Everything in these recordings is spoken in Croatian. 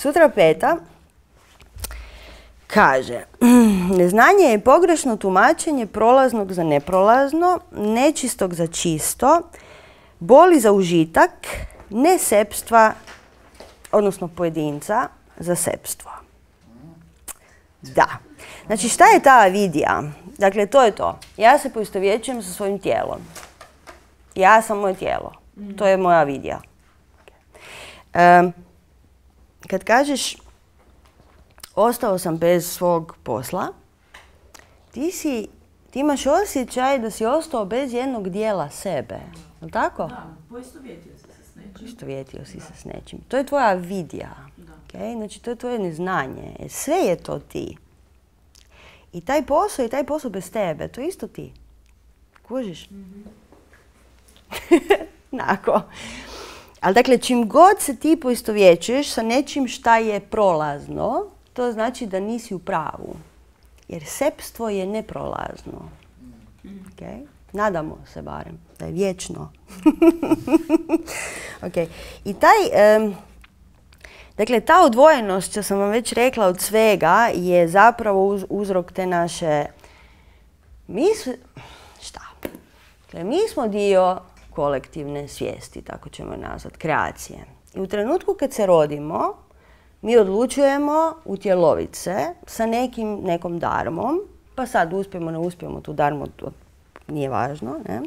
Sutra 5. kaže, neznanje je pogrešno tumačenje prolaznog za neprolazno, nečistog za čisto, boli za užitak, ne sepstva, odnosno pojedinca, za sepstvo. Da. Znači, šta je ta avidija? Dakle, to je to. Ja se poistovjećujem sa svojim tijelom. Ja sam moje tijelo. To je moja avidija. Kad kažeš ostao sam bez svog posla, ti imaš osjećaj da si ostao bez jednog dijela sebe. Je li tako? Da, poistovjetio si se s nečim. Poistovjetio si se s nečim. To je tvoja avidija. Okay? Znači, to je tvoje neznanje. Sve je to ti. I taj posao bez tebe, to je isto ti. Kužiš? Nako. Ali dakle, čim god se ti poistovjećuješ sa nečim šta je prolazno, to znači da nisi u pravu. Jer sepstvo je neprolazno. Okay? Nadamo se barem da je vječno. Okay. I dakle, ta odvojenost, što sam vam već rekla, od svega je zapravo uzrok te naše... Mi smo dio kolektivne svijesti, tako ćemo nazvati, kreacije. I u trenutku kad se rodimo, mi odlučujemo utjeloviti se sa nekom darmom, pa sad uspijemo, ne uspijemo tu darmu, to nije važno, ne?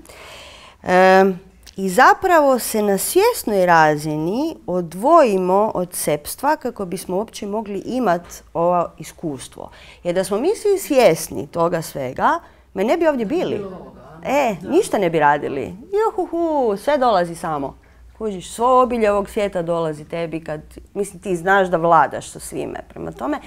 I zapravo se na svjesnoj razini odvojimo od sepstva kako bismo uopće mogli imati ovo iskustvo. Jer da smo mi svi svjesni toga svega, me ne bi ovdje bili. Ništa ne bi radili. Juhuhu, sve dolazi samo. Kužiš, svo obilje ovog svijeta dolazi tebi kad, mislim, ti znaš da vladaš sa svime. Prema tome,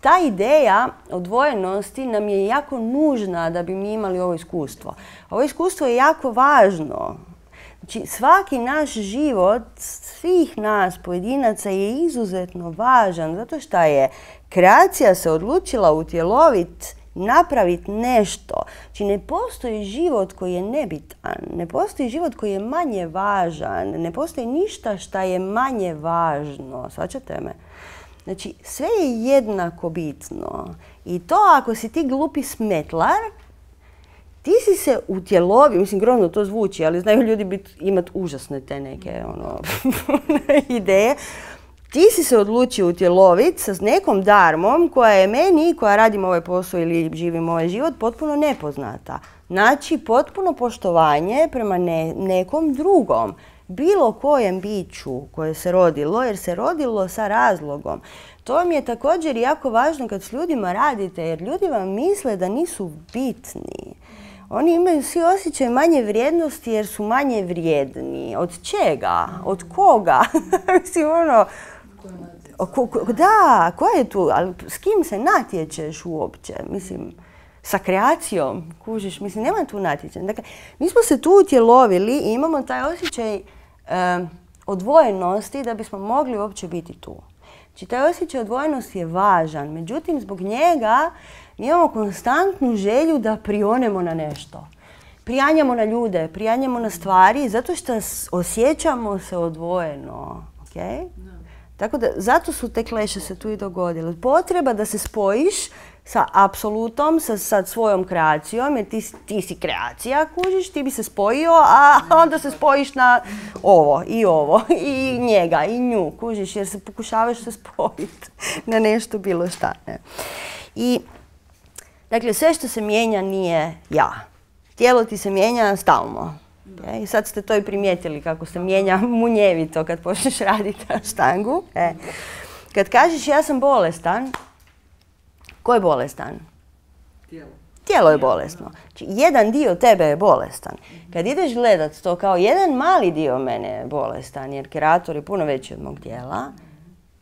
ta ideja odvojenosti nam je jako nužna da bi mi imali ovo iskustvo. Ovo iskustvo je jako važno. Znači, svaki naš život, svih nas pojedinaca je izuzetno važan zato što je kreacija se odlučila utjeloviti, napraviti nešto. Znači, ne postoji život koji je nebitan, ne postoji život koji je manje važan, ne postoji ništa što je manje važno. Shvaćate me? Znači, sve je jednako bitno. I to ako si ti glupi smetlar, ti si se utjelovio, mislim, grozno to zvuči, ali znaju ljudi imati užasne te neke ideje. Ti si se odlučio utjeloviti sa nekom darmom koja je meni, koja radim ovaj posao ili živim ovaj život, potpuno nepoznata. Znači, potpuno poštovanje prema nekom drugom, bilo kojem biću koje se rodilo, jer se rodilo sa razlogom. To vam je također jako važno kad s ljudima radite, jer ljudi vam misle da nisu bitni. Oni imaju svi osjećaj manje vrijednosti jer su manje vrijedni. Od čega? Od koga? Mislim, da, ko je tu? Ali s kim se natječeš uopće? Mislim, sa kreacijom, kužiš, mislim, nema tu natječenja. Dakle, mi smo se tu utjelovili i imamo taj osjećaj odvojenosti da bismo mogli uopće biti tu. Znači, taj osjećaj odvojenosti je važan, međutim, zbog njega mi imamo konstantnu želju da prionemo na nešto. Prijanjamo na ljude, prijanjamo na stvari, zato što osjećamo se odvojeno. Okay? Tako da, zato su te kleše se tu i dogodile. Potreba da se spojiš sa apsolutom, sa svojom kreacijom, jer ti si kreacija, kužiš, ti bi se spojio, a onda se spojiš na ovo, i njega, i nju, kužiš, jer se pokušavaš se spojiti na nešto bilo šta. Ne? I, dakle, sve što se mijenja nije ja. Tijelo ti se mijenja stalno. Okay? I sad ste to i primijetili kako se mijenja munjevito kad počneš raditi na štangu. Kad kažeš ja sam bolestan, ko je bolestan? Tijelo. Tijelo je bolesno. Znači, jedan dio tebe je bolestan. Kad ideš gledat to kao jedan mali dio mene je bolestan, jer kreator je puno veći od mog tijela,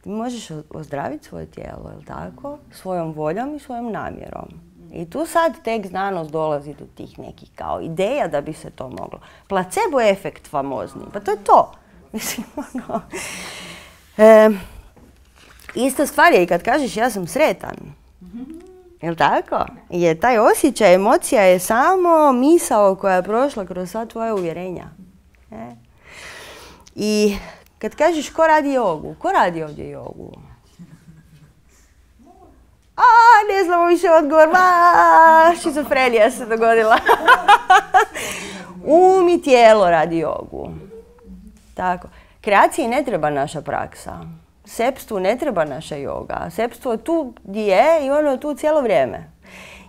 ti možeš ozdraviti svoje tijelo, je li tako? Svojom voljom i svojom namjerom. I tu sad tek znanost dolazi do tih nekih kao ideja da bi se to moglo. Placebo efekt famozni, pa to je to. Mislim, ista stvar je i kad kažeš ja sam sretan. Jel' tako? Jer taj osjećaj, emocija je samo misao koja je prošla kroz sva tvoja uvjerenja. I kad kažeš ko radi jogu, ko radi ovdje jogu? Ne znamo više odgovor, šizofrenija se dogodila. I tijelo radi jogu. Tako. Kreaciji ne treba naša praksa. Sepstvu ne treba naša joga. Sepstvo tu je i ono je tu cijelo vrijeme.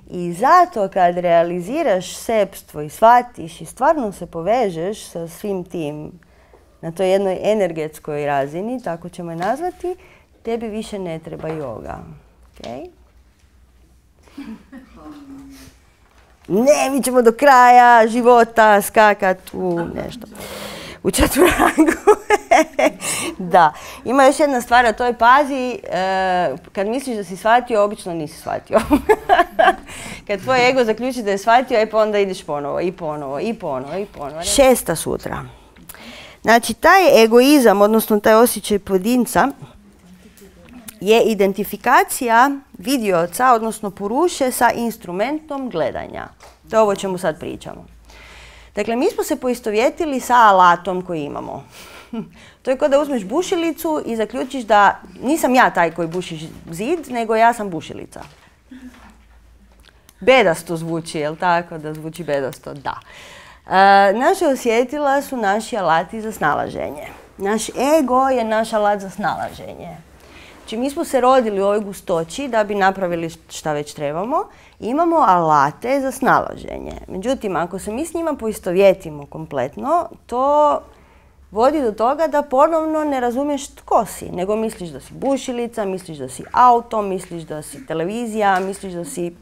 I zato kad realiziraš sepstvo i shvatiš i stvarno se povežeš sa svim tim na toj jednoj energetskoj razini, tako ćemo je nazvati, tebi više ne treba joga. Okay? Ne, mi ćemo do kraja života skakat u nešto. U četvorangu. Da. Ima još jedna stvar, a to je pazi, kad misliš da si shvatio, obično nisi shvatio. Kad tvoj ego zaključi da je shvatio, pa onda ideš ponovo, i ponovo, i ponovo, i ponovo. 6. sutra. Znači, taj egoizam, odnosno taj osjećaj pojedinca, je identifikacija vidioca, odnosno puruše, sa instrumentom gledanja. To je ovo o čemu sad pričamo. Dakle, mi smo se poistovjetili sa alatom koji imamo. To je kao da uzmeš bušilicu i zaključiš da nisam ja taj koji buši zid, nego ja sam bušilica. Bedasto zvuči, jel tako? Da zvuči bedasto, da. Naše osjetila su naši alati za snalaženje. Naš ego je naš alat za snalaženje. Znači, mi smo se rodili u ovoj gustoći da bi napravili šta već trebamo. Imamo alate za snalaženje. Međutim, ako se mi s njima poistovjetimo kompletno, to vodi do toga da ponovno ne razumiješ tko si, nego misliš da si bušilica, misliš da si auto, misliš da si televizija, misliš da si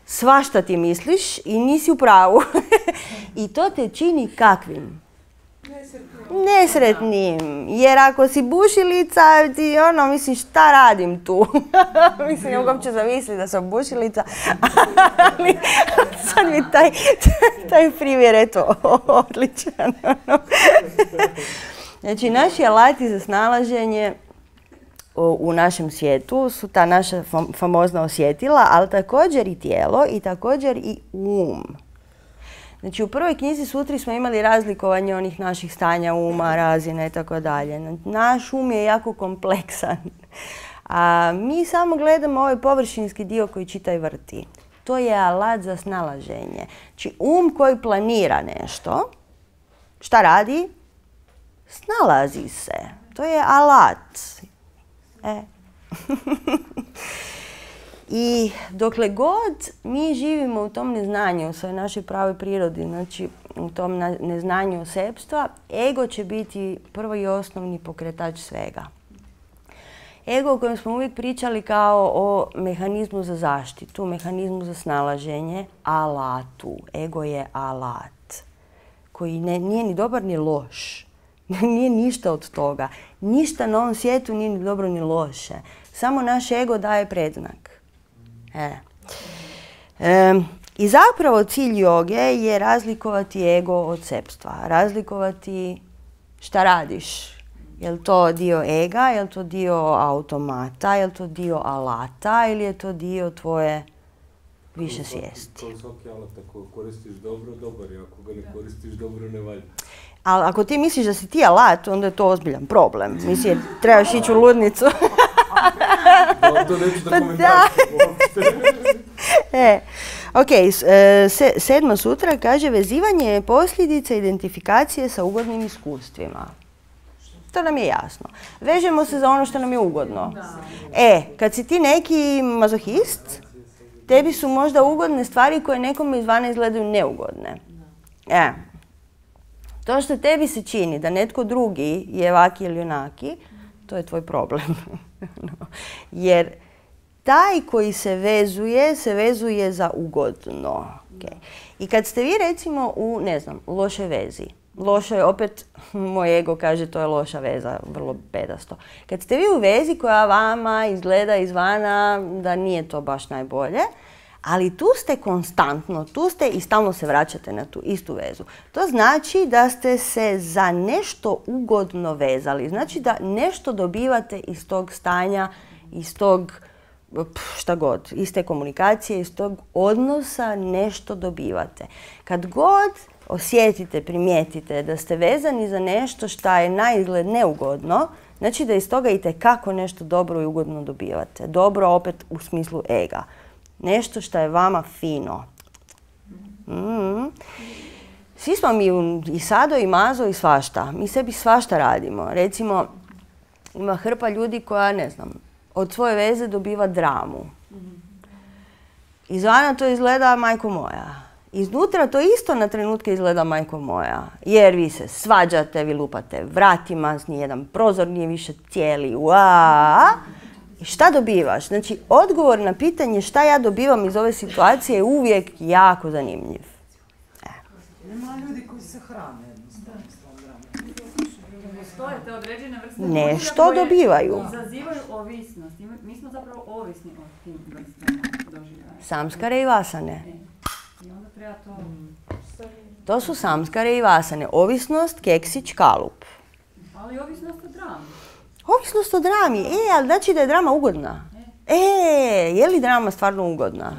svašta ti misliš i nisi u pravu. I to te čini kakvim? Nesretnim. Jer ako si bušilica, ti misliš šta radim tu? Mislim, uopće zamisli da sam bušilica. Ali sad mi taj primjer, eto, odličan. Znači, naši alati za snalaženje u našem svijetu su ta naša famozna osjetila, ali također i tijelo i također i um. Znači, u prvoj knjizi Sutri smo imali razlikovanje onih naših stanja uma, razine i tako dalje. Naš um je jako kompleksan. A mi samo gledamo ovaj površinski dio koji čita i vrti. To je alat za snalaženje. Znači, um koji planira nešto, šta radi? Snalazi se. To je alat. I dokle god mi živimo u tom neznanju, u svojoj našoj pravoj prirodi, znači u tom neznanju sepstva, ego će biti prvo i osnovni pokretač svega. Ego o kojem smo uvijek pričali kao o mehanizmu za zaštitu, mehanizmu za snalaženje, alatu. Ego je alat koji nije ni dobar ni loš. Nije ništa od toga. Ništa na ovom svijetu nije ni dobro ni loše. Samo naš ego daje predznak. I zapravo cilj joge je razlikovati ego od sepstva. Razlikovati šta radiš. Je li to dio ega, je li to dio automata, je li to dio alata ili je to dio tvoje više svijesti. Kao svaki alat, ako koristiš dobro, dobar je. Ako ga ne koristiš dobro, ne valja. Ali ako ti misliš da si ti alat, onda je to ozbiljan problem. Mislim, trebaš ići u ludnicu. To neću da komentariti. Ok, 7. sutra kaže vezivanje je posljedica identifikacije sa ugodnim iskustvima. To nam je jasno. Vežemo se za ono što nam je ugodno. Kad si ti neki mazohist, tebi su možda ugodne stvari koje nekome izvana izgledaju neugodne. To što tebi se čini da netko drugi je ovaki ili onaki, to je tvoj problem. Jer taj koji se vezuje za ugodno. I kad ste vi recimo u, ne znam, lošoj vezi, loša je, opet moj ego kaže to je loša veza, vrlo bedasto. Kad ste vi u vezi koja vama izgleda izvana da nije to baš najbolje, ali tu ste konstantno, tu ste i stalno se vraćate na tu istu vezu. To znači da ste se za nešto ugodno vezali. Znači da nešto dobivate iz tog stanja, iz tog šta god, iz te komunikacije, iz tog odnosa nešto dobivate. Kad god osjetite, primijetite da ste vezani za nešto što je na izgled neugodno, znači da iz toga itekako nešto dobro i ugodno dobivate. Dobro opet u smislu ega. Nešto što je vama fino. Svi smo mi i Sado i Mazo i svašta. Mi sebi svašta radimo. Recimo, ima hrpa ljudi koja, ne znam, od svoje veze dobiva dramu. Izvana to izgleda majko moja. Iznutra to isto na trenutke izgleda majko moja. Jer vi se svađate, vi lupate vratima, nijedan prozor nije više cijeli. I šta dobivaš? Znači, odgovor na pitanje šta ja dobivam iz ove situacije je uvijek jako zanimljiv. Nema ljudi koji se hrane jednostavno s tom dramom. Postoje te određene vrste Nešto dobivaju. izazivaju ovisnost. Mi smo zapravo ovisni od tim vrstama doživljaja. Samskare i vasane. I onda treba to... To su samskare i vasane. Ovisnost, keksić, kalup. Ali ovisnost o drami. Ovisnost o drami. Ali znači da je drama ugodna. Je li drama stvarno ugodna?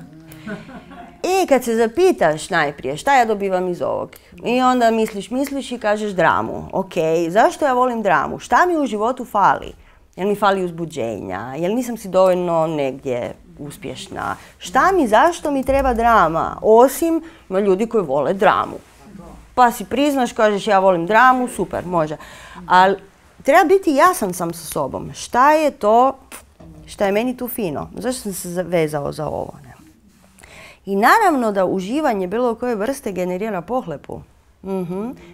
Kad se zapitaš najprije šta ja dobivam iz ovog i onda misliš i kažeš dramu. Ok, zašto ja volim dramu? Šta mi u životu fali? Jel mi fali uzbuđenja? Jel nisam si dovoljno negdje uspješna? Zašto mi treba drama? Osim, ima ljudi koji vole dramu. Pa si priznaš, kažeš ja volim dramu, super, može. Ali treba biti jasan sam sa sobom. Šta je to, šta je meni tu fino? Zašto sam se vezao za ovo? I naravno da uživanje bilo koje vrste generira pohlepu.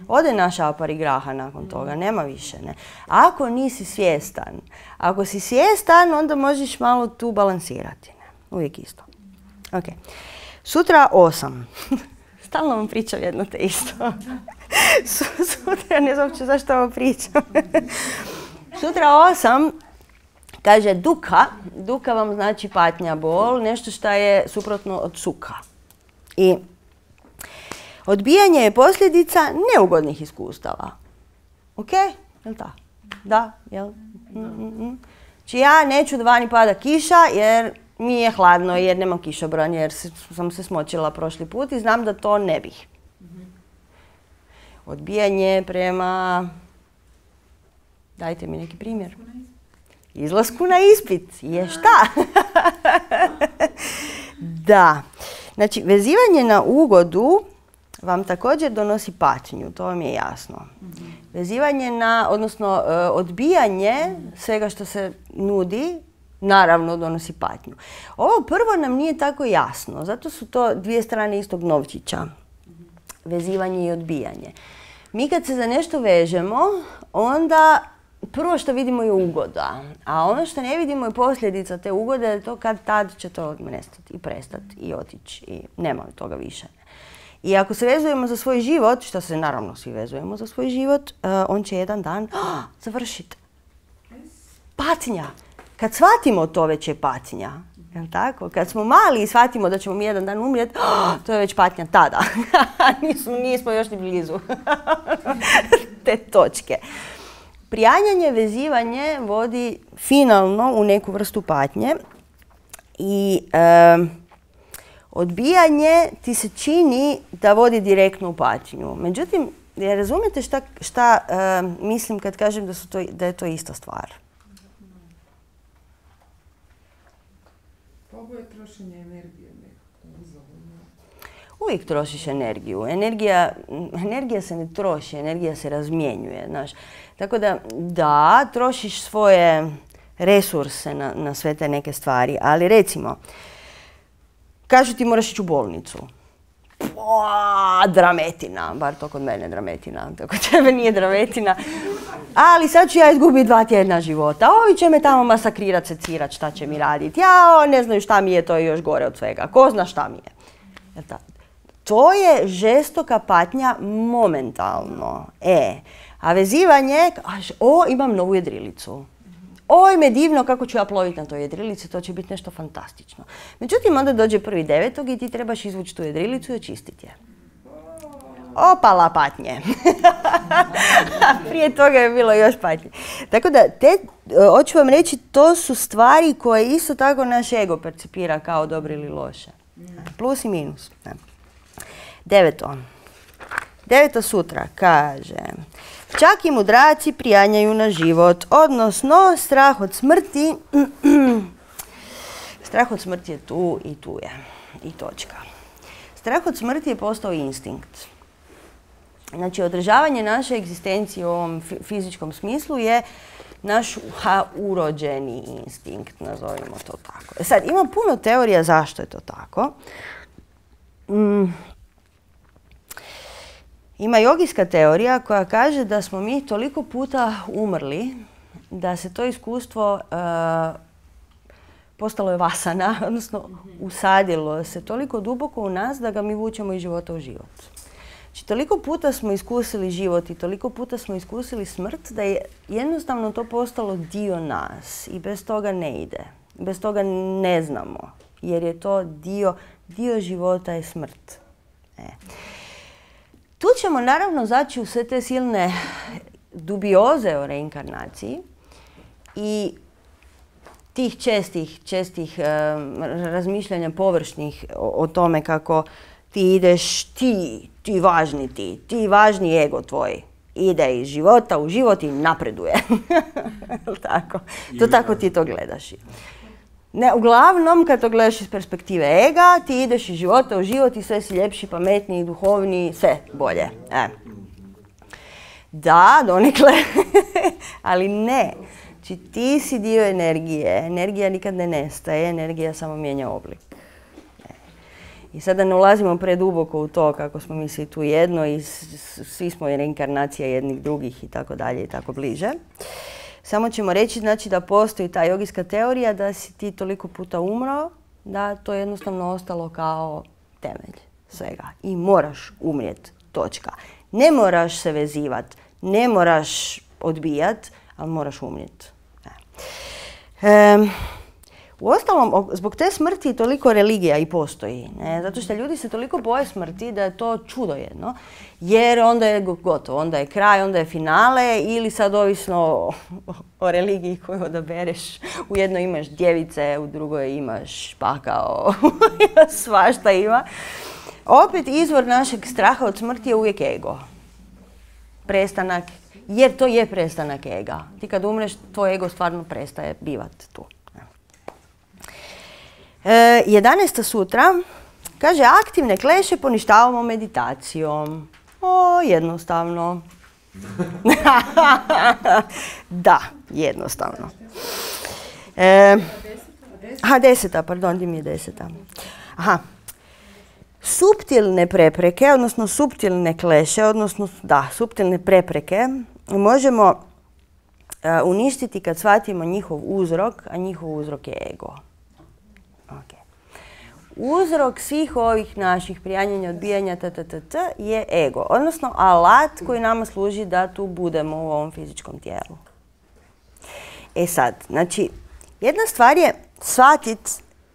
Ode naša aparigraha nakon toga, nema više. Ne? Ako nisi svjestan, ako si svjestan, onda možeš malo tu balansirati. Ne? Uvijek isto. Okay. Sutra 8. Stalno vam pričam jedno te isto. Sutra, ne znam uopće zašto vam pričam. Sutra 8. Kaže duka. Duka vam znači patnja, bol, nešto što je suprotno od suka. I odbijanje je posljedica neugodnih iskustava. Ok? Jel' tako? Da? Jel? Znači ja neću da vani pada kiša jer mi je hladno, jer nemam kišobran, jer sam se smočila prošli put i znam da to ne bih. Odbijanje prema... Dajte mi neki primjer. Izlasku na ispit. Je šta? Da. Znači, vezivanje na ugodu vam također donosi patnju, to vam je jasno. Vezivanje na, odnosno odbijanje svega što se nudi, naravno donosi patnju. Ovo prvo nam nije tako jasno, zato su to dvije strane istog novčića. Vezivanje i odbijanje. Mi kad se za nešto vežemo, onda prvo što vidimo je ugoda, a ono što ne vidimo je posljedica te ugode, to kad tad će to nestati i prestati i otići i nema toga više. I ako se vezujemo za svoj život, što se naravno svi vezujemo za svoj život, on će jedan dan završiti. Patnja. Kad shvatimo to, već je patnja. Jel' tako? Kad smo mali i shvatimo da ćemo mi jedan dan umrijeti, to je već patnja tada. Nismo još ni blizu te točke. Prijanjanje, vezivanje vodi finalno u neku vrstu patnje i odbijanje ti se čini da vodi direktno u patnju. Međutim, razumijete šta mislim kad kažem da je to ista stvar? Ovo je trošenje energije nekako uzaludno. Uvijek trošiš energiju. Energija se ne troši, energija se razmjenjuje. Znaš. Tako da, trošiš svoje resurse na sve te neke stvari. Ali recimo, kažu ti moraš ići u bolnicu. Drametina, bar to kod mene drametina, to kod tebe nije drametina. Ali sad ću ja izgubiti 2 tjedna života. Ovi će me tamo masakrirat, secirat, šta će mi raditi. Ja ne znaju šta mi je, to je još gore od svega. Ko zna šta mi je. To je žestoka patnja momentalno. A vezivanje, imam novu jedrilicu. Oj, me divno kako ću ja ploviti na toj jedrilici, to će biti nešto fantastično. Međutim, onda dođe 1.9. i ti trebaš izvući tu jedrilicu i očistiti je. Opala patnje. Prije toga je bilo još patnje. Tako da, hoću vam reći, to su stvari koje isto tako naš ego percipira kao dobro ili loše. Plus i minus. 9. 9. sutra kaže: čak i mudraci prijanjaju na život, odnosno strah od smrti. Strah od smrti je tu i tu je. I točka. Strah od smrti je postao instinkt. Znači, održavanje naše egzistencije u ovom fizičkom smislu je naš urođeni instinkt, nazovimo to tako. Sad, ima puno teorija zašto je to tako. Ima jogijska teorija koja kaže da smo mi toliko puta umrli da se to iskustvo postalo je vasana, odnosno usadilo se toliko duboko u nas da ga mi vučemo iz života u život. Znači, toliko puta smo iskusili život i toliko puta smo iskusili smrt da je jednostavno to postalo dio nas i bez toga ne ide. Bez toga ne znamo, jer je to dio života je smrt. Tu ćemo naravno zaći u sve te silne dubioze o reinkarnaciji i tih čestih razmišljanja površnih o tome kako ti ideš, ti važni ego tvoj, ide iz života u život i napreduje. Tako. To tako ti to gledaš. Ne, uglavnom, kad to gledaš iz perspektive ega, ti ideš iz života u život i sve si ljepši, pametniji, duhovniji, sve bolje. Da, donekle, ali ne. Znači, ti si dio energije. Energija nikad ne nestaje, energija samo mijenja oblik. I sada ne ulazimo preduboko u to kako smo mi svi tu jedno i svi smo reinkarnacija jednih drugih i tako dalje i tako bliže. Samo ćemo reći, znači, da postoji ta jogijska teorija da si ti toliko puta umro, da to je jednostavno ostalo kao temelj svega. I moraš umrijeti, točka. Ne moraš se vezivati, ne moraš odbijati, ali moraš umrijeti. Uostalom, zbog te smrti toliko religija i postoji. Ne? Zato što ljudi se toliko boje smrti da je to čudo jedno. Jer onda je gotovo, onda je kraj, onda je finale ili sad ovisno o religiji koju odabereš. U jednoj imaš djevice, u drugoj imaš pakao, svašta ima. Opet izvor našeg straha od smrti je uvijek ego. Prestanak, jer to je prestanak ega. Ti kad umreš, tvoj ego stvarno prestaje bivati tu. 11. sutra kaže: aktivne kleše poništavamo meditacijom. Jednostavno. Da, jednostavno. 10. Pardon, di mi je 10. Suptilne prepreke, odnosno suptilne kleše, odnosno suptilne prepreke možemo uništiti kad shvatimo njihov uzrok, a njihov uzrok je ego. Uzrok svih ovih naših prijanjanja, odbijanja, je ego. Odnosno alat koji nama služi da tu budemo u ovom fizičkom tijelu. Sad, znači, jedna stvar je shvatiti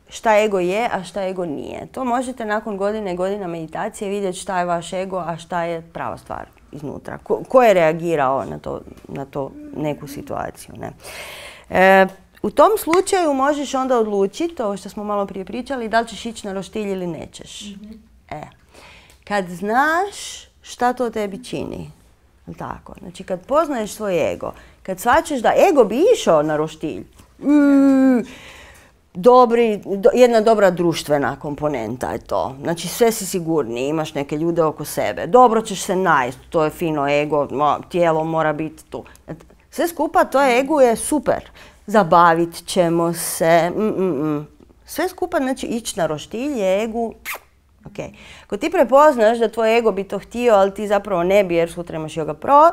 šta ego je, a šta ego nije. To možete nakon godine i godina meditacije vidjeti šta je vaš ego, a šta je prava stvar iznutra. Ko je reagirao na to neku situaciju. Ne? U tom slučaju možeš onda odlučiti, ovo što smo malo prije pričali, da li ćeš ići na roštilj ili nećeš. Kad znaš šta to tebi čini, tako, znači kad poznaješ svoj ego, kad shvaćaš da ego bi išao na roštilj, jedna dobra društvena komponenta je to. Znači sve si sigurniji, imaš neke ljude oko sebe, dobro ćeš se najest, to je fino ego, tijelo mora biti tu. Sve skupa, to ego je super. Zabavit ćemo se. Sve skupa, znači, ići na roštilj je egu. Ako ti prepoznaš da tvoj ego bi to htio, ali ti zapravo ne bi jer sutra imaš yoga pro,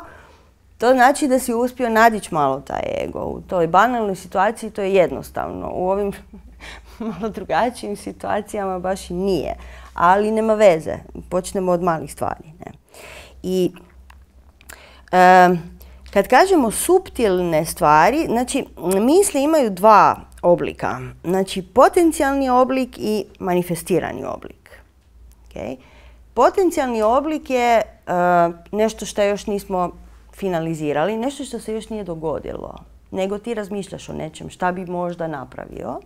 to znači da si uspio nadići malo taj ego. U toj banalnoj situaciji to je jednostavno. U ovim malo drugačijim situacijama baš i nije. Ali nema veze. Počnemo od malih stvari. Ne? I kad kažemo suptilne stvari, znači misli imaju dva oblika. Znači potencijalni oblik i manifestirani oblik. Potencijalni oblik je nešto što još nismo finalizirali, nešto što se još nije dogodilo, nego ti razmišljaš o nečem šta bi možda napravio.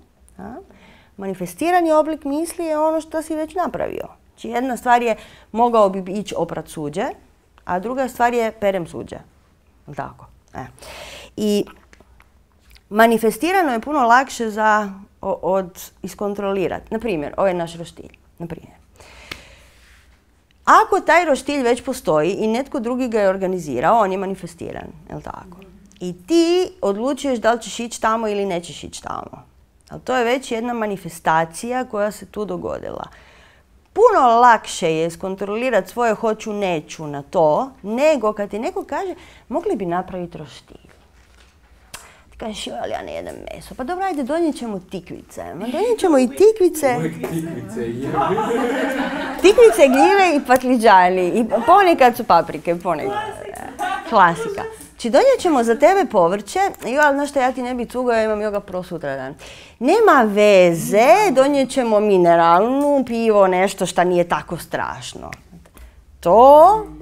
Manifestirani oblik misli je ono što si već napravio. Znači jedna stvar je mogao bi ići oprat suđe, a druga stvar je perem suđe. Jel' tako? I manifestirano je puno lakše za iskontrolirati. Naprimjer, ovaj naš roštilj. Naprimjer. Ako taj roštilj već postoji i netko drugi ga je organizirao, on je manifestiran. Jel' tako? I ti odlučuješ da li ćeš ići tamo ili nećeš ići tamo. Ali to je već jedna manifestacija koja se tu dogodila. Puno lakše je iskontrolirati svoje hoću, neću na to, nego kad ti neko kaže mogli bi napraviti roštilj. Ti kažeš, ali ja ne jedem meso. Pa dobro, ajde, donijet ćemo tikvice. Donijet ćemo i tikvice. Tikvice, gljive i patliđani. I ponekad su paprike, ponekad. Klasika. Znači, donijet ćemo za tebe povrće, ali znaš što, ja ti ne bi cugao, ja imam joga pro sutradan. Nema veze, donijet ćemo mineralnu, pivo, nešto što nije tako strašno.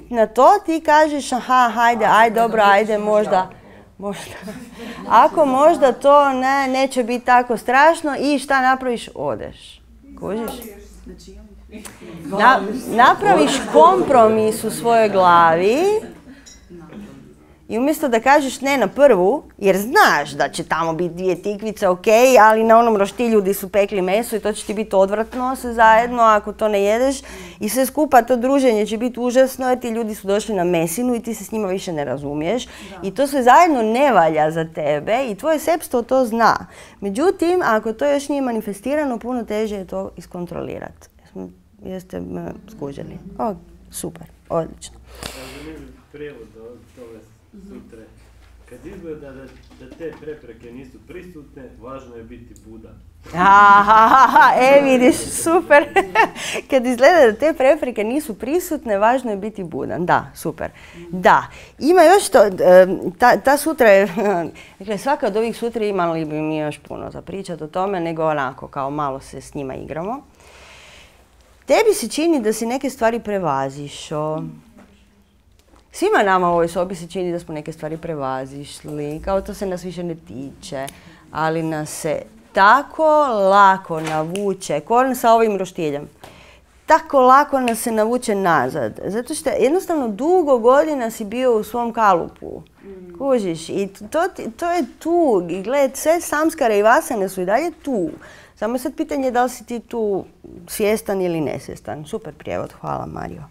Na to ti kažeš, aha, ajde, dobro, ajde, možda. Ako možda to neće biti tako strašno i šta napraviš, odeš. Kužiš? Napraviš kompromis u svojoj glavi. I umjesto da kažeš ne na prvu, jer znaš da će tamo biti 2 tikvice, ok, ali na onom roštilju gdje su pekli meso i to će ti biti odvratno sve zajedno ako to ne jedeš. I sve skupa to druženje će biti užasno jer ti ljudi su došli na mesinu i ti se s njima više ne razumiješ. I to sve zajedno ne valja za tebe i tvoje sepstvo to zna. Međutim, ako to još nije manifestirano, puno teže je to iskontrolirati. Jeste me skužili? O, super, odlično. Prijevod od ove sutre. Kad izgleda da te prepreke nisu prisutne, važno je biti Buda. Vidiš, super. Kad izgleda da te prepreke nisu prisutne, važno je biti budan. Da, super. Da. Ima još to, ta sutra je, dakle, svaka od ovih sutra imali bi mi još puno za pričati o tome, nego onako, kao malo se s njima igramo. Tebi se čini da si neke stvari prevazišao. Svima nama u ovoj sobi se čini da smo neke stvari prevazišli, kao to se nas više ne tiče, ali nas se tako lako navuče, ko sa ovim roštiljem, tako lako nas se navuče nazad. Zato što jednostavno dugo godina si bio u svom kalupu. Kužiš, i to je tu. I gled, sve samskare i vasane su i dalje tu. Samo sad pitanje je da li si ti tu svjestan ili nesvjestan. Super prijevod, hvala Mario.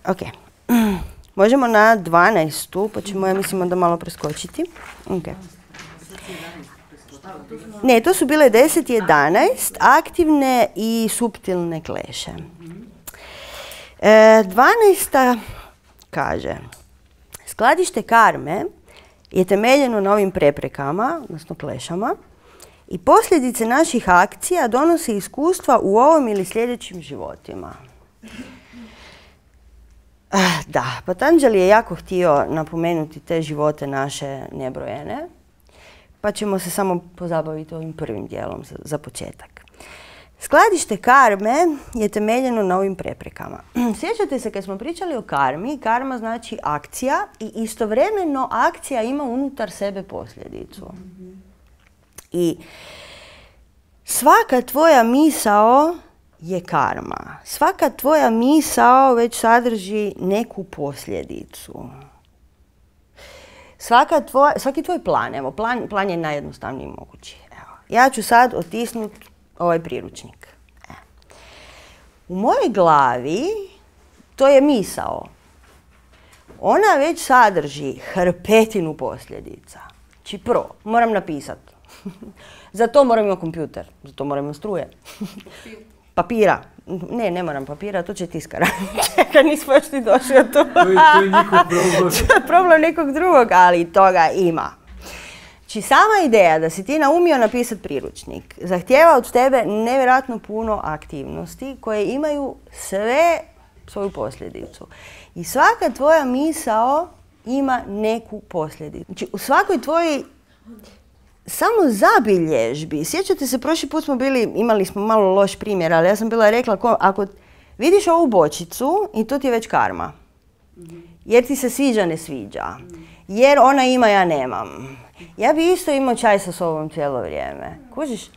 Ok. Možemo na 12. pa ćemo, ja mislim, onda malo preskočiti. Okay. Ne, to su bile 10 i 11, aktivne i suptilne kleše. 12. kaže, skladište karme je temeljeno na ovim preprekama, odnosno klešama, i posljedice naših akcija donose iskustva u ovom ili sljedećim životima. Da, Patanjali je jako htio napomenuti te živote naše nebrojene, pa ćemo se samo pozabaviti ovim prvim dijelom za početak. Skladište karme je temeljeno na ovim preprekama. Sjećate se kad smo pričali o karmi, karma znači akcija i istovremeno akcija ima unutar sebe posljedicu. I svaka tvoja misao je karma. Svaka tvoja misao već sadrži neku posljedicu. Svaki tvoj plan, evo, plan je najjednostavniji mogući. Evo, ja ću sad otisnuti ovaj priručnik. U mojoj glavi to je misao. Ona već sadrži hrpetinu posljedica. Znači prvo, moram napisati. Za to moram imati kompjuter, za to moram imati struje. Papira. Ne moram papira, to će tiskara. Čekaj, nismo još ni došli od to. To je njihov problem. To je problem nekog drugog, ali toga ima. Znači, sama ideja da si ti naumio napisati priručnik zahtijeva od tebe nevjerojatno puno aktivnosti koje imaju sve svoju posljedicu. I svaka tvoja misao ima neku posljedicu. Znači, u svakoj tvojoj samo zabilježbi. Sjećate se, prošli put imali smo malo loš primjer, ali ja sam bila rekla, ako vidiš ovu bočicu i to ti je već karma. Jer ti se sviđa, ne sviđa. Jer ona ima, ja nemam. Ja bi isto imao čaj sa sobom cijelo vrijeme. Kužiš?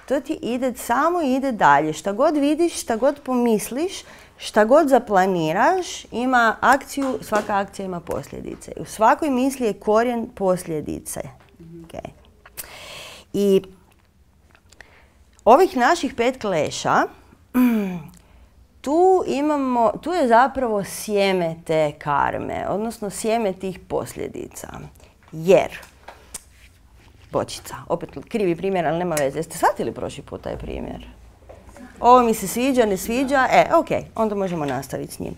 To ti samo ide dalje. Šta god vidiš, šta god pomisliš, šta god zaplaniraš, ima akciju, svaka akcija ima posljedice. U svakoj misli je korijen posljedice. Okay. I ovih naših 5 kleša, tu je zapravo sjeme te karme, odnosno sjeme tih posljedica. Jer, bočica, opet krivi primjer, ali nema veze. Jeste shvatili prošli put taj primjer? Ovo mi se sviđa, ne sviđa, ok, onda možemo nastaviti s njim.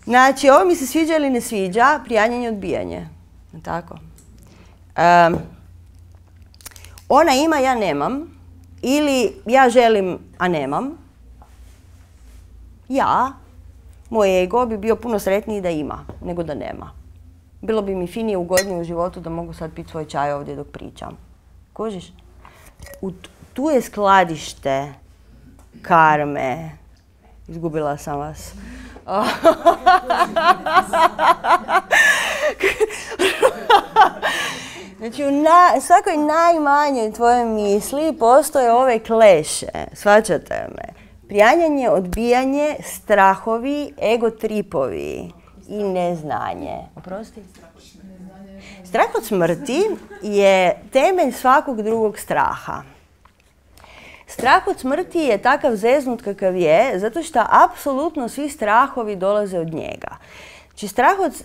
Znači, ovo mi se sviđa ili ne sviđa, prijanjanje, odbijanje. Tako. Ona ima, ja nemam. Ili ja želim, a nemam. Moj ego bi bio puno sretniji da ima, nego da nema. Bilo bi mi finije, ugodnije u životu da mogu sad piti svoj čaj ovdje dok pričam. Kužiš? Tu je skladište karme. Izgubila sam vas. Znači, u svakoj najmanjoj tvojoj misli postoje ove kleše. Shvaćate me? Prijanjanje, odbijanje, strahovi, ego tripovi i neznanje. Oprosti? Strah od smrti je temelj svakog drugog straha. Strah od smrti je takav zeznut kakav je, zato što apsolutno svi strahovi dolaze od njega. Znači, strah od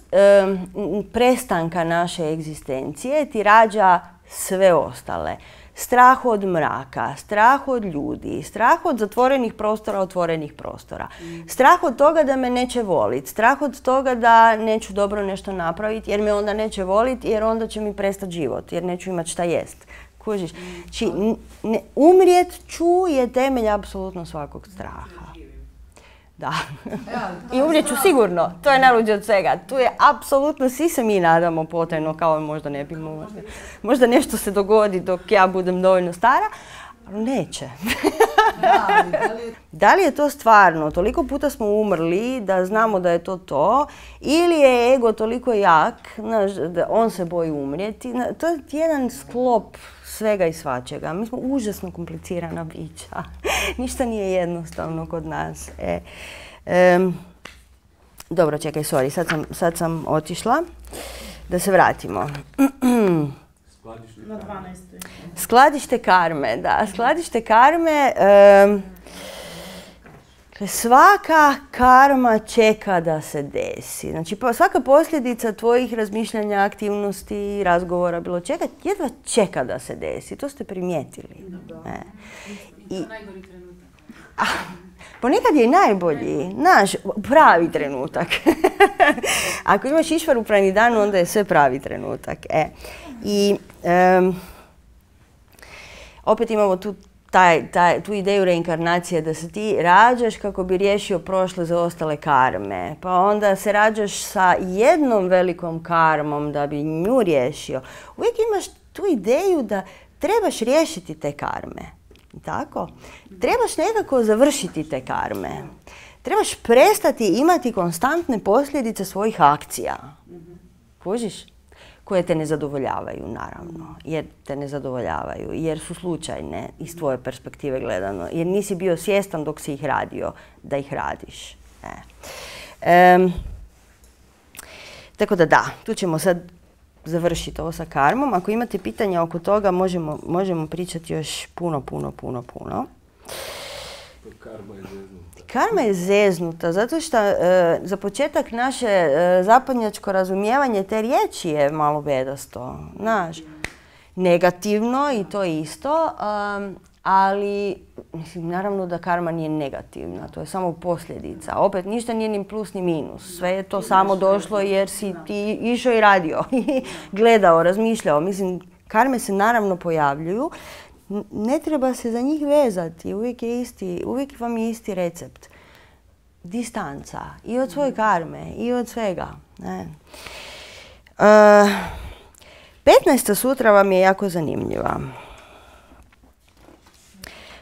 prestanka naše egzistencije ti rađa sve ostale. Strah od mraka, strah od ljudi, strah od zatvorenih prostora, otvorenih prostora. Strah od toga da me neće voliti, strah od toga da neću dobro nešto napraviti jer me onda neće voliti, jer onda će mi prestati život, jer neću imati šta jest. Kužiš? Znači, umrijet ću je temelj apsolutno svakog straha. Da. I umrijet ću sigurno. To je najluđe od svega. Tu je apsolutno, svi se mi nadamo potajno, kao možda ne bi možda nešto se dogodi dok ja budem dovoljno stara, ali neće. Da li je to stvarno? Toliko puta smo umrli da znamo da je to, ili je ego toliko jak, da on se boji umrijeti. To je jedan sklop svega i svačega. Mi smo užasno komplicirana bića. Ništa nije jednostavno kod nas. Dobro, čekaj, sorry, sad sam otišla. Da se vratimo. Na 12. Skladište karme, da. Skladište karme, svaka karma čeka da se desi. Znači, svaka posljedica tvojih razmišljanja, aktivnosti, razgovora, bilo čega, jedva čeka da se desi. To ste primijetili. I najgori trenutak. Ponekad je i najbolji, naš pravi trenutak. Ako imaš Išvaru Pranidhanu, onda je sve pravi trenutak. I opet imamo tu ideju reinkarnacije, da se ti rađaš kako bi riješio prošle zaostale karme. Pa onda se rađaš sa jednom velikom karmom da bi nju riješio. Uvijek imaš tu ideju da trebaš riješiti te karme. Tako? Trebaš nekako završiti te karme. Trebaš prestati imati konstantne posljedice svojih akcija. Kužiš? Koje te ne zadovoljavaju, naravno. Jer te ne zadovoljavaju. Jer su slučajne iz tvoje perspektive gledano. Jer nisi bio svjestan dok si ih radio da ih radiš. Tako da, tu ćemo sad završiti ovo sa karmom. Ako imate pitanja oko toga, možemo pričati još puno. Karma je zeznuta. Karma je zeznuta, zato što za početak naše zapadnjačko razumijevanje te riječi je malo bedasto. Znaš, negativno i to isto, ali mislim, naravno da karma nije negativna, to je samo posljedica. Opet, ništa nije ni plus ni minus. Sve je to samo došlo jer si ti išao i radio, gledao, razmišljao. Mislim, karme se naravno pojavljuju. Ne treba se za njih vezati, uvijek vam je isti recept. Distanca i od svoje karme i od svega. 15. sutra vam je jako zanimljiva.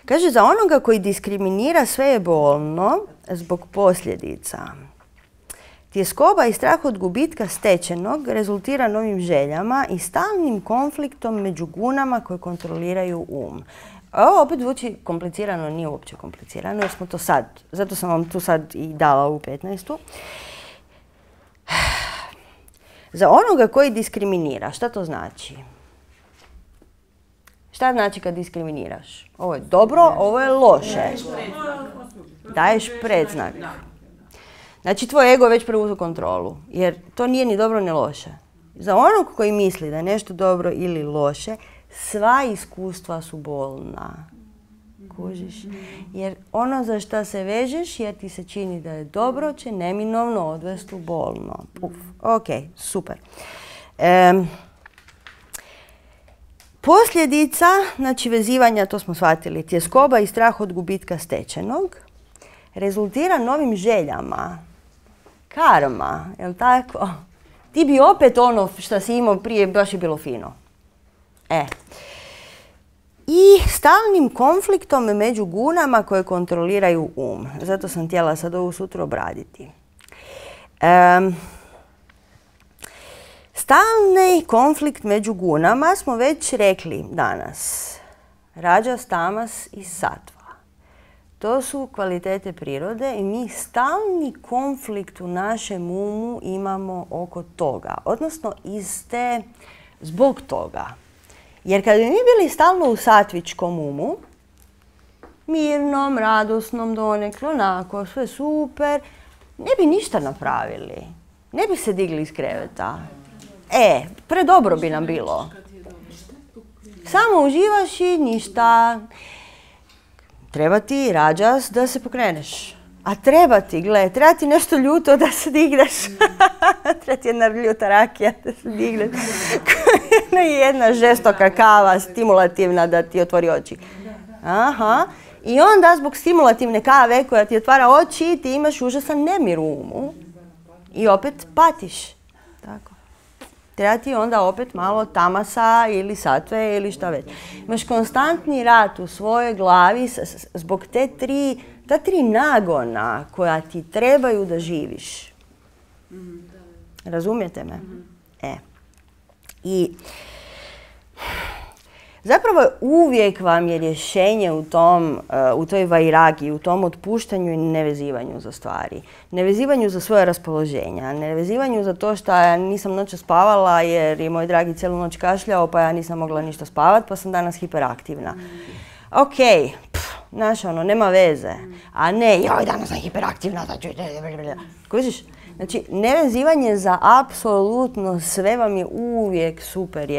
Kaže, za onoga koji diskriminira sve je bolno zbog posljedica. Tjeskoba i strah od gubitka stečenog rezultira novim željama i stalnim konfliktom među gunama koje kontroliraju um. Ovo opet zvuči komplicirano, nije uopće komplicirano jer smo to sad, zato sam vam tu sad i dala ovu 15. Za onoga koji diskriminira, šta to znači? Šta znači kad diskriminiraš? Ovo je dobro, ovo je loše. Daješ predznak. Znači tvoj ego je već preuzeo kontrolu, jer to nije ni dobro ni loše. Za onog koji misli da je nešto dobro ili loše, sva iskustva su bolna. Kužiš? Jer ono za šta se vežeš, jer ti se čini da je dobro, će neminovno odvesti u bolno. Ok, super. Posljedica, znači vezivanja, to smo shvatili, tjeskoba i strah od gubitka stečenog, rezultira novim željama. Karma, jel tako? Ti bi opet ono što si imao prije, baš je bilo fino. I stalnim konfliktom među gunama koje kontroliraju um. Zato sam htjela sad ovu sutra obraditi. Stalni konflikt među gunama smo već rekli danas. Rađas, tamas i sattva. To su kvalitete prirode i mi stalni konflikt u našem umu imamo oko toga. Odnosno zbog toga. Jer kad bi mi bili stalno u satvičkom umu, mirnom, radosnom, donekle, onako, sve super, ne bi ništa napravili. Ne bi se digli iz kreveta. Predobro bi nam bilo. Samo uživaš i ništa. Treba ti rađas da se pokreneš. A treba ti nešto ljuto da se digneš. Treba ti jedna ljuta rakija da se digneš. Jedna žestoka kava, stimulativna da ti otvori oči. Aha. I onda zbog stimulativne kave koja ti otvara oči, ti imaš užasan nemir u umu. I opet patiš. Tako. Treba ti onda opet malo tamasa ili satve ili šta već. Imaš konstantni rat u svojoj glavi zbog ta tri nagona koja ti trebaju da živiš. Razumijete me? I zapravo uvijek vam je rješenje u toj vairagi, u tom otpuštanju i nevezivanju za stvari. Nevezivanju za svoje raspoloženja, nevezivanju za to što ja nisam noćas spavala jer je moj dragi cijelu noć kašljao pa ja nisam mogla ništa spavat pa sam danas hiperaktivna. Ok, znaš nema veze. A ne, joj danas sam hiperaktivna, kužiš? Znači, nevezivanje za apsolutno sve vam je uvijek super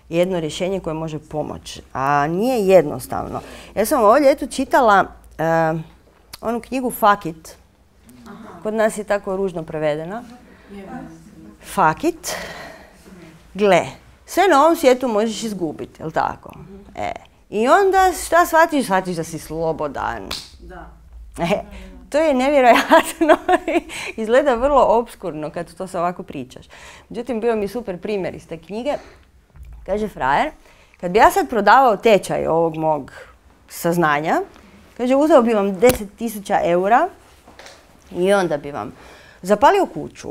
jedno rješenje koje može pomoći, a nije jednostavno. Ja sam ovo ljeto čitala onu knjigu Fuck It. Kod nas je tako ružno prevedena. Fuck It. Gle, sve na ovom svijetu možeš izgubiti, jel tako? I onda šta shvatiš? Shvatiš da si slobodan. To je nevjerojatno. Izgleda vrlo opskurno kad to se ovako pričaš. Međutim, bio mi super primjer iz te knjige. Kaže frajer, kad bi ja sad prodavao tečaj ovog mog saznanja, kaže, uzeo bi vam 10.000 eura i onda bi vam zapalio kuću,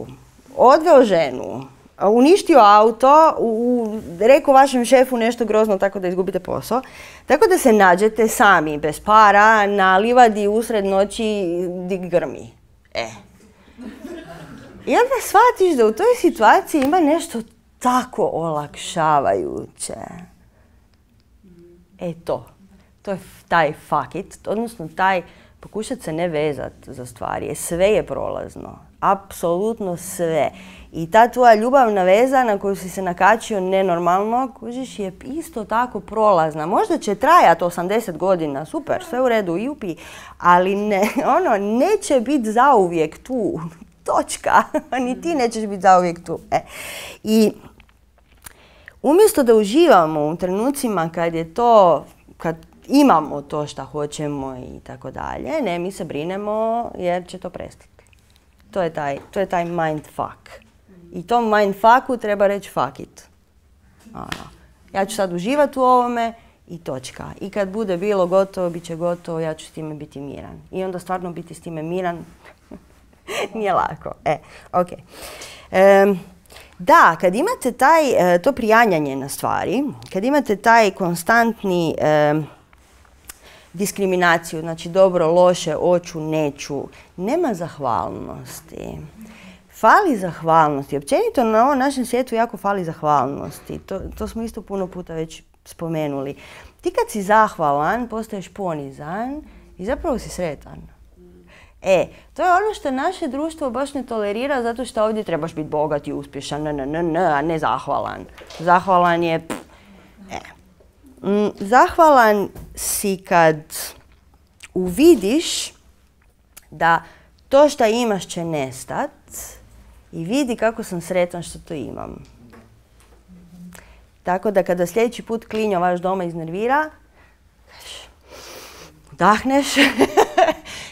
odveo ženu, uništio auto, rekao vašem šefu nešto grozno tako da izgubite posao, tako da se nađete sami, bez para, na livadi usred noći di grmi. I onda shvatiš da u toj situaciji ima nešto tako olakšavajuće. To je taj fuck it, odnosno taj pokušati se ne vezat za stvari. Sve je prolazno, apsolutno sve. I ta tvoja ljubavna veza na koju si se nakačio nenormalno, kužiš, je isto tako prolazna. Možda će trajati 80 godina, super, sve u redu, jupi, ali neće biti zauvijek tu. Točka. Ni ti nećeš biti zauvijek tu. I umjesto da uživamo u trenucima kad imamo to što hoćemo i tako dalje, ne, mi se brinemo jer će to prestati. To je taj mindfuck. I tom mindfucku treba reći fuck it. Ja ću sad uživati u ovome i točka. I kad bude bilo gotovo, bit će gotovo, ja ću s time biti miran. I onda stvarno biti s time miran Nije lako. Ok. Da, kad imate to prijanjanje na stvari, kad imate taj konstantni diskriminaciju, znači dobro, loše, hoću, neću, nema zahvalnosti. Fali zahvalnosti. Općenito na ovom našem svijetu jako fali zahvalnosti. To smo isto puno puta već spomenuli. Ti kad si zahvalan, postaješ ponizan i zapravo si sretan. To je ono što naše društvo baš ne tolerira, zato što ovdje trebaš biti bogat i uspješan, a ne zahvalan. Zahvalan je... Zahvalan si kad uvidiš da to što imaš će nestat i vidi kako sam sretan što to imam. Tako da kada sljedeći put klinjo vaš doma iznervira, udahneš,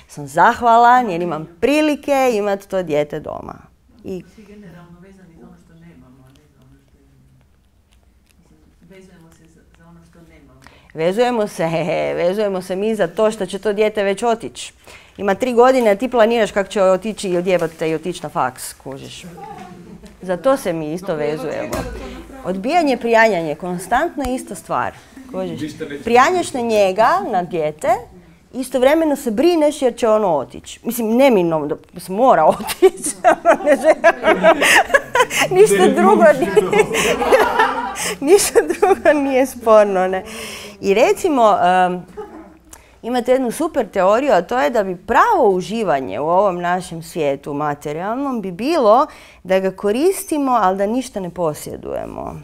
sam zahvalan jer imam prilike imati to dijete doma. I svi generalno vezani za ono što nemamo, a ne za ono što imamo. Vezujemo se za ono što nemamo. Vezujemo se mi za to što će to dijete već otići. Ima 3 godine, a ti planiraš kako će otići i odjebati te i otići na faks, kužiš. Za to se mi isto vezujemo. Odbijanje, prijanjanje, konstantno je ista stvar. Kužiš. Prijanjaš na njega, na dijete, istovremeno se brineš jer će ono otići. Mislim, neminovno da se mora otići. Ništa drugo nije sporno. Ne? I recimo, imate jednu super teoriju, a to je da bi pravo uživanje u ovom našem svijetu materijalnom bi bilo da ga koristimo, ali da ništa ne posjedujemo.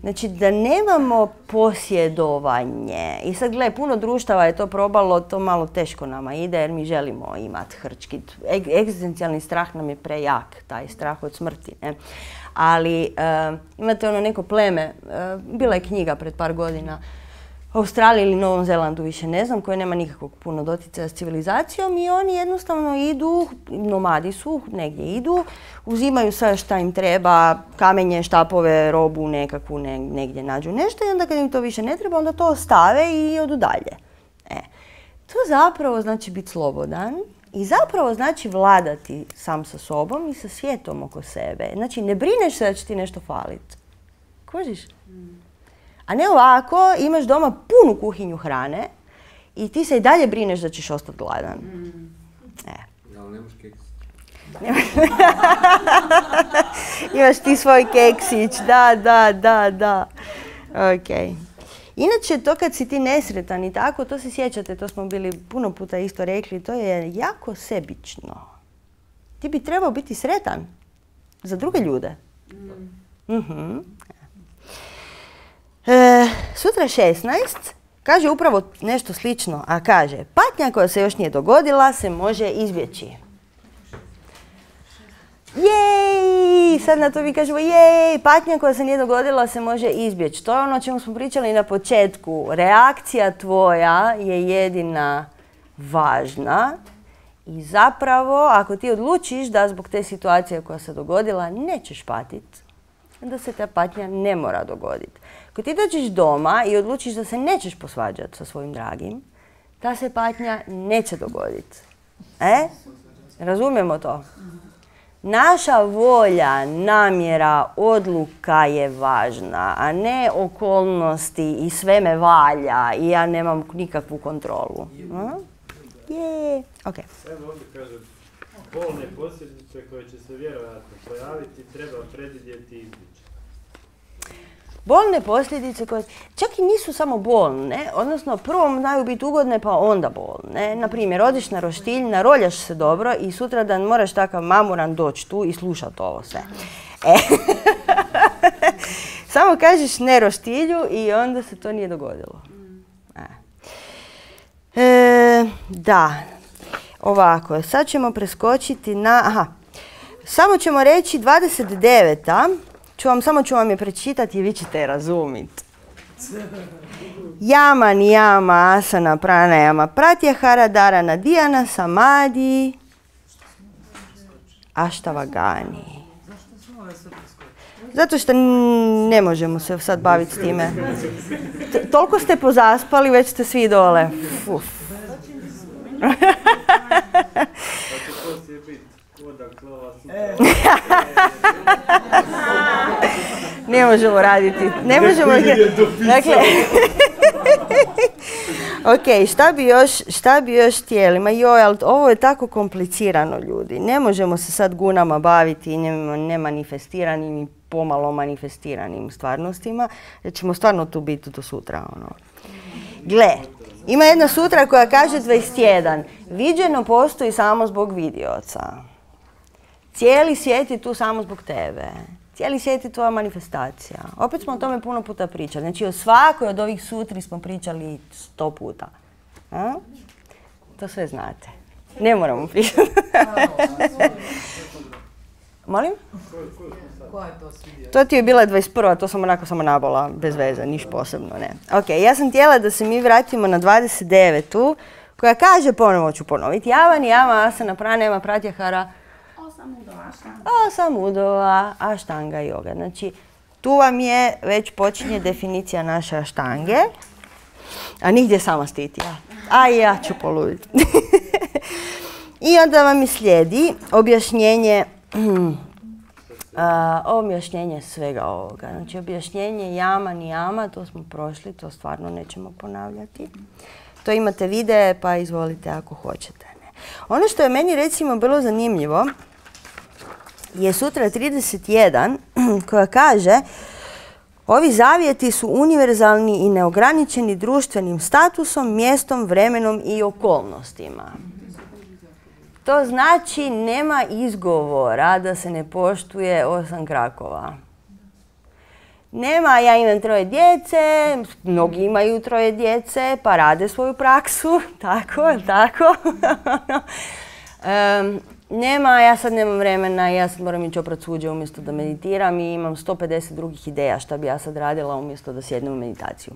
Znači da nemamo posjedovanje. I sad gledaj, puno društava je to probalo, to malo teško nama ide jer mi želimo imati hrčkit. Egzistencijalni strah nam je prejak, taj strah od smrti. Ne? Ali imate ono neko pleme, bila je knjiga pred par godina, u Australiji ili Novom Zelandu, više ne znam, koje nema nikakvog puno doticaja s civilizacijom i oni jednostavno idu, nomadi su, negdje idu, uzimaju sve šta im treba, kamenje, štapove, robu nekakvu, negdje nađu nešto i onda kad im to više ne treba, onda to ostave i odu dalje. To zapravo znači biti slobodan i zapravo znači vladati sam sa sobom i sa svijetom oko sebe. Znači ne brineš se da će ti nešto faliti. Kužiš? A ne ovako, imaš doma punu kuhinju hrane i ti se i dalje brineš da ćeš ostati gladan. Ali nemaš keks. Imaš ti svoj keksić, da. Ok. Inače, to kad si ti nesretan i tako, to se sjećate, to smo bili puno puta isto rekli, to je jako sebično. Ti bi trebao biti sretan za druge ljude. Sutra 16 kaže upravo nešto slično, a kaže patnja koja se još nije dogodila se može izbjeći. Jej! Sad na to mi kažemo jej! Patnja koja se nije dogodila se može izbjeći. To je ono o čemu smo pričali na početku. Reakcija tvoja je jedina važna i zapravo ako ti odlučiš da zbog te situacije koja se dogodila nećeš patiti, onda se ta patnja ne mora dogoditi. Ako ti dođeš doma i odlučiš da se nećeš posvađati sa svojim dragim, ta se patnja neće dogoditi. Razumijemo to? Naša volja, namjera, odluka je važna, a ne okolnosti i sve me valja i ja nemam nikakvu kontrolu. Ok. Evo ovdje kaže, bolne posljedice koje će se vjerojatno pojaviti treba predvidjeti i izbjeći. Bolne posljedice koje čak i nisu samo bolne, odnosno prvo znaju biti ugodne pa onda bolne. Naprimjer, odiš na roštilj, naroljaš se dobro i sutradan moraš takav mamuran doći tu i slušati ovo sve. Samo kažeš ne roštilju i onda se to nije dogodilo. Da, ovako, sad ćemo preskočiti na, samo ćemo reći 29. Samo ću vam je prečitati i vi ćete je razumjeti. Yama, niyama, asana, pranayama, pratyahara, dharana, dhyana, samadhi, ashtavagani. Zato što ne možemo se sad baviti s time. Toliko ste pozaspali, već ste svi dole. Odakle ova sutra? Ne možemo raditi. Ne možemo... Dakle... Ok, šta bi još htjeli? Ma joj, ali ovo je tako komplicirano, ljudi. Ne možemo se sad gunama baviti nemanifestiranim i pomalo manifestiranim stvarnostima, jer ćemo stvarno tu biti do sutra. Ono. Gle, ima jedna sutra koja kaže 21. Viđeno postoji samo zbog vidioca. Cijeli svijet je tu samo zbog tebe. Cijeli svijet je tvoja manifestacija. Opet smo o tome puno puta pričali. Znači o svakoj od ovih sutri smo pričali 100 puta. A? To sve znate. Ne moramo pričati. Molim? Koja je to svidjela? To ti je bila 21. To sam onako samo nabola, bez veze, niš posebno, ne. Ok, ja sam htjela da se mi vratimo na 29. koja kaže, ponovo ću ponoviti, Java niyama asana pranayama pratyahara osam udova aštanga yoga. Znači, tu vam je već počinje definicija naše aštange, a nigdje sama stitija. A ja ću poluditi. I onda vam i slijedi objašnjenje svega ovoga. Znači, objašnjenje jama niyama, to smo prošli, to stvarno nećemo ponavljati. To imate videe, pa izvolite ako hoćete. Ne. Ono što je meni recimo bilo zanimljivo je sutra 31 koja kaže ovi zavjeti su univerzalni i neograničeni društvenim statusom, mjestom, vremenom i okolnostima. To znači nema izgovora da se ne poštuje 8 krakova. Nema, ja imam 3 djece, mnogi imaju 3 djece, pa rade svoju praksu, tako. Nema, ja sad nemam vremena, ja sad moram ići oprat suđe umjesto da meditiram i imam 150 drugih ideja šta bi ja sad radila umjesto da sjednem u meditaciju.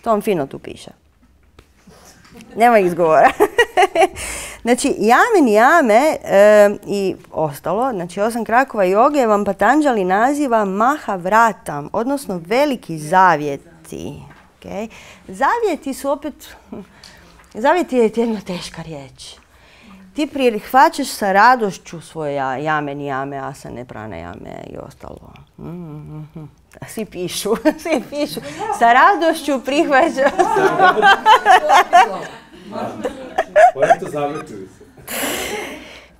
To vam fino tu piše. Nema izgovora. Znači, jame niyame i ostalo, znači 8 krakova joge vam Patanjali naziva Mahavratam, odnosno veliki zavjeti. Okay? Zavjeti su opet, zavjeti je jedna teška riječ. Ti prihvaćaš sa radošću svoje jame niyame, asane, pranayame i ostalo. Svi pišu. Sa radošću prihvaćaš.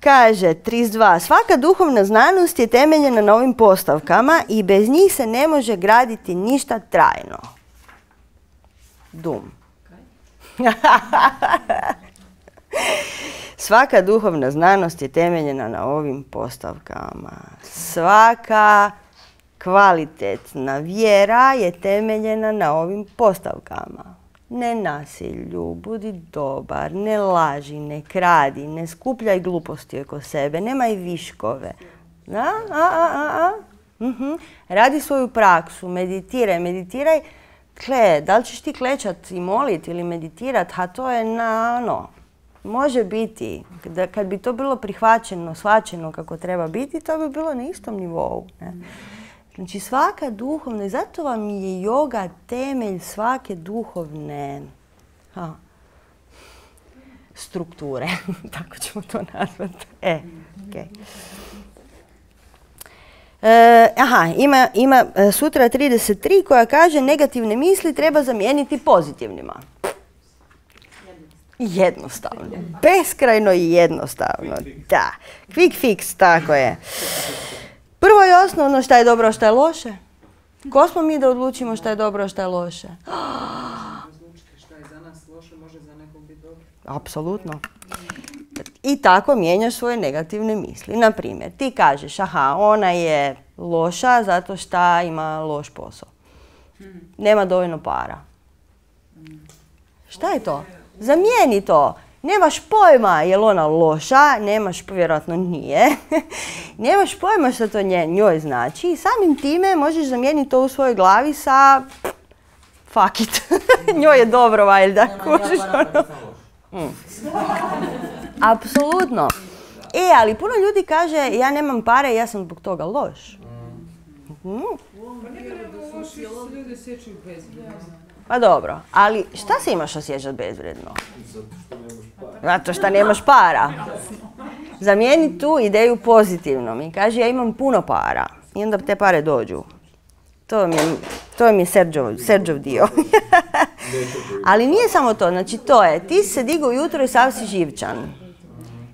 Kaže 32. Svaka duhovna znanost je temeljena na ovim postavkama i bez njih se ne može graditi ništa trajno. Dum. Svaka duhovna znanost je temeljena na ovim postavkama. Svaka kvalitetna vjera je temeljena na ovim postavkama. Ne nasilju, budi dobar, ne laži, ne kradi, ne skupljaj gluposti oko sebe, nemaj viškove. Radi svoju praksu, meditiraj. Da li ćeš ti klečat i molit ili meditirat, a to je može biti, kad bi to bilo prihvaćeno, shvaćeno kako treba biti, to bi bilo na istom nivou. Ne? Znači svaka duhovna, zato vam je joga temelj svake duhovne strukture, tako ćemo to nazvati. Okay. Ima sutra 33 koja kaže negativne misli treba zamijeniti pozitivnima. Jednostavno. Beskrajno i jednostavno. Da. Quick fix, tako je. Prvo i osnovno šta je dobro, a šta je loše. Ko smo mi da odlučimo šta je dobro, a šta je loše? Šta je za nas loše, može za nekog biti dobro. Apsolutno. I tako mijenjaš svoje negativne misli. Naprimjer, ti kažeš, ona je loša zato što ima loš posao. Nema dovoljno para. Šta je to? Zamijeni to. Nemaš pojma je li ona loša, vjerojatno nije. Nemaš pojma što to njoj znači i samim time možeš zamijeniti to u svojoj glavi sa fuck it. Njoj je dobro, valjda. Apsolutno. Ali puno ljudi kaže ja nemam pare, ja sam zbog toga loš. Pa dobro, ali šta se imaš osjećati bezvredno? Zato što nemaš para. Zamijeni tu ideju pozitivnom i kaže ja imam puno para i onda te pare dođu. To vam je Serđov dio. Ali nije samo to, znači to je, ti se digao ujutro i sav si živčan.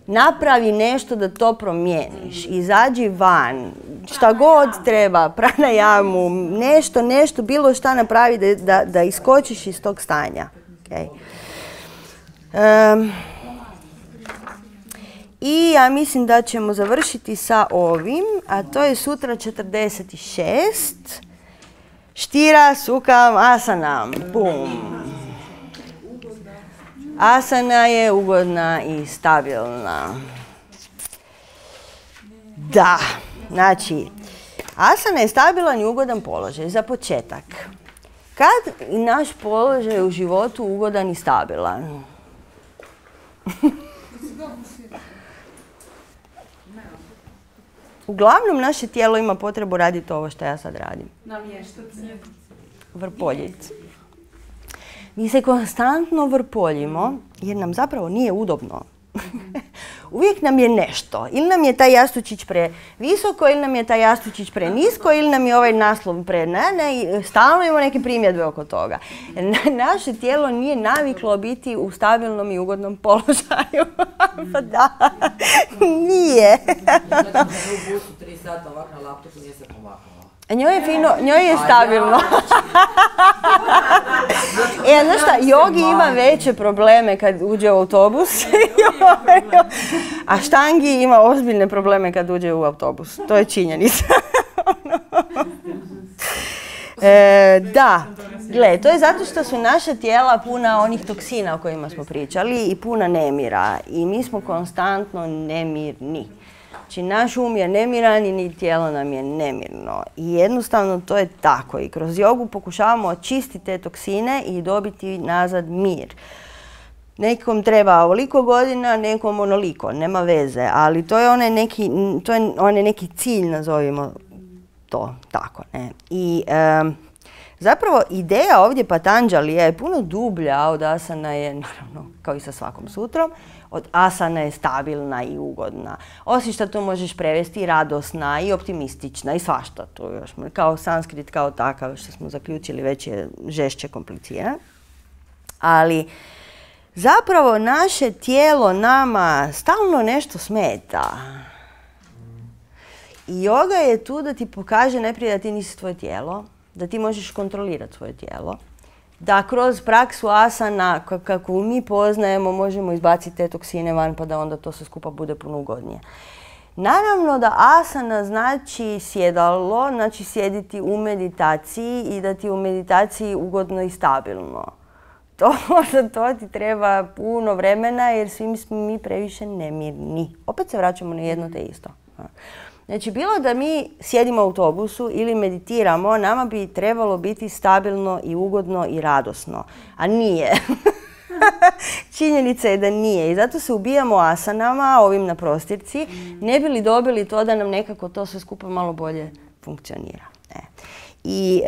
Napravi nešto da to promijeniš, izađi van, šta god treba, pranajamu, nešto, bilo šta napravi da iskočiš iz tog stanja. Okay. I ja mislim da ćemo završiti sa ovim, a to je sutra 46. Štira sukam asanam. Bum. Asana je ugodna i stabilna. Da, znači, asana je stabilan i ugodan položaj za početak. Kad je naš položaj u životu ugodan i stabilan? Uglavnom, naše tijelo ima potrebu raditi ovo što ja sad radim. Vrpoljiti. Mi se konstantno vrpoljimo jer nam zapravo nije udobno. Uvijek nam je nešto. Ili nam je taj jastučić previsoko, ili nam je taj jastučić prenisko, ili nam je ovaj naslov stalno imamo neke primjedbe oko toga. Naše tijelo nije naviklo biti u stabilnom i ugodnom položaju. Pa da, nije. U busu 3 sata ovak na laptopu nije se pomaknula. Njoj je fino, njoj je stabilno. Znaš šta, Jogi ima veće probleme kad uđe u autobus, a Štangi ima ozbiljne probleme kad uđe u autobus. To je činjenica. Da, gle, to je zato što su naša tijela puna onih toksina o kojima smo pričali i puna nemira. I mi smo konstantno nemirni. Znači, naš um je nemiran i ni tijelo nam je nemirno. I jednostavno to je tako. I kroz jogu pokušavamo očistiti te toksine i dobiti nazad mir. Nekom treba ovoliko godina, nekom onoliko, nema veze. Ali to je onaj neki cilj, nazovimo to tako. Ne? I zapravo ideja ovdje Patanđalija je puno dublja od asana je, naravno, kao i sa svakom sutrom, od asana je stabilna i ugodna. Osim što to možeš prevesti i radosna i optimistična i svašta tu još. Kao sanskrit kao takav što smo zaključili već je žešće kompliciran. Ali zapravo naše tijelo nama stalno nešto smeta. I joga je tu da ti pokaže najprije da ti nisi tvoje tijelo, da ti možeš kontrolirati svoje tijelo, da kroz praksu asana, kako mi poznajemo, možemo izbaciti te toksine van pa da onda to sve skupa bude puno ugodnije. Naravno da asana znači sjedalo, znači sjediti u meditaciji i da ti u meditaciji ugodno i stabilno. Za to ti treba puno vremena jer svi smo mi previše nemirni. Opet se vraćamo na jedno te isto. Znači, bilo da mi sjedimo u autobusu ili meditiramo, nama bi trebalo biti stabilno i ugodno i radosno. A nije. Činjenica je da nije. I zato se ubijamo asanama, ovim na prostirci, ne bi li dobili to da nam nekako to sve skupa malo bolje funkcionira. I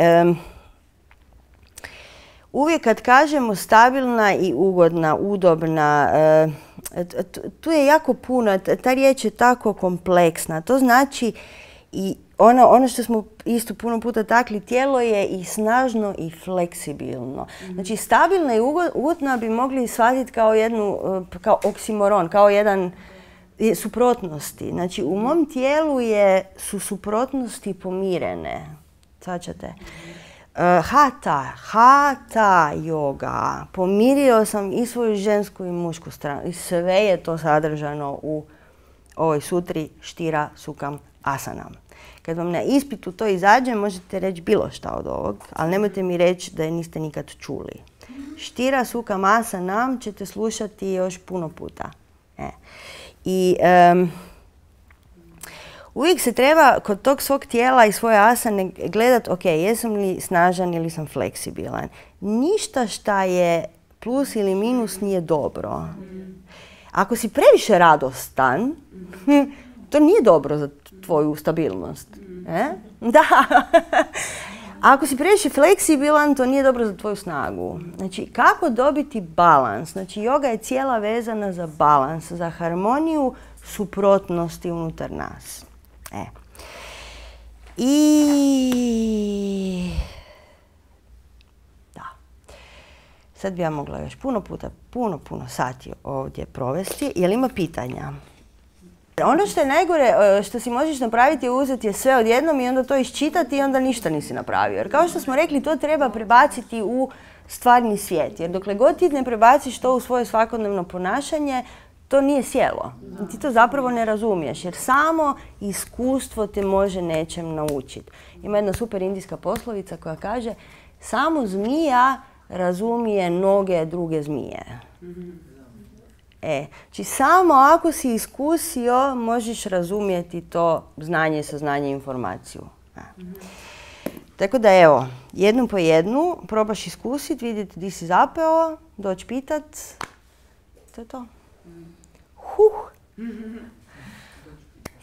uvijek kad kažemo stabilna i ugodna, udobna, tu je jako puno, ta riječ je tako kompleksna. To znači i ono što smo isto puno puta takli, tijelo je i snažno i fleksibilno. Znači stabilna i ugodna bi mogli shvatiti kao oksimoron, kao jedan suprotnosti. Znači u mom tijelu su suprotnosti pomirene. Svačate? Hatha yoga. Pomirio sam i svoju žensku i mušku stranu. I sve je to sadržano u ovoj sutri Štira sukam asanam. Kad vam na ispitu to izađe, možete reći bilo šta od ovog, ali nemojte mi reći da je niste nikad čuli. Štira sukam asanam ćete slušati još puno puta. I uvijek se treba kod tog svog tijela i svoje asane gledati, ok, jesam li snažan ili sam fleksibilan. Ništa šta je plus ili minus nije dobro. Ako si previše radostan, to nije dobro za tvoju stabilnost. Da. Ako si previše fleksibilan, to nije dobro za tvoju snagu. Znači, kako dobiti balans? Znači, joga je cijela vezana za balans, za harmoniju suprotnosti unutar nas. I da. Sad bi ja mogla još puno sati ovdje provesti. Jel ima pitanja? Ono što je najgore što si možeš napraviti je uzeti sve odjednom i onda to iščitati i onda ništa nisi napravio. Jer kao što smo rekli, to treba prebaciti u stvarni svijet. Jer dokle god ti ne prebaciš to u svoje svakodnevno ponašanje, to nije sjelo. Ti to zapravo ne razumiješ, jer samo iskustvo te može nečem naučiti. Ima jedna super indijska poslovica koja kaže samo zmija razumije noge druge zmije. Znači samo ako si iskusio možeš razumjeti to znanje, saznanje, informaciju. Tako da evo, jednu po jednu probaš iskusiti, vidjeti di si zapeo, doći pitat. To je to.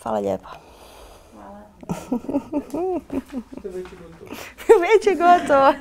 Hvala lijepa. Hvala. Već je gotovo. Već je gotovo.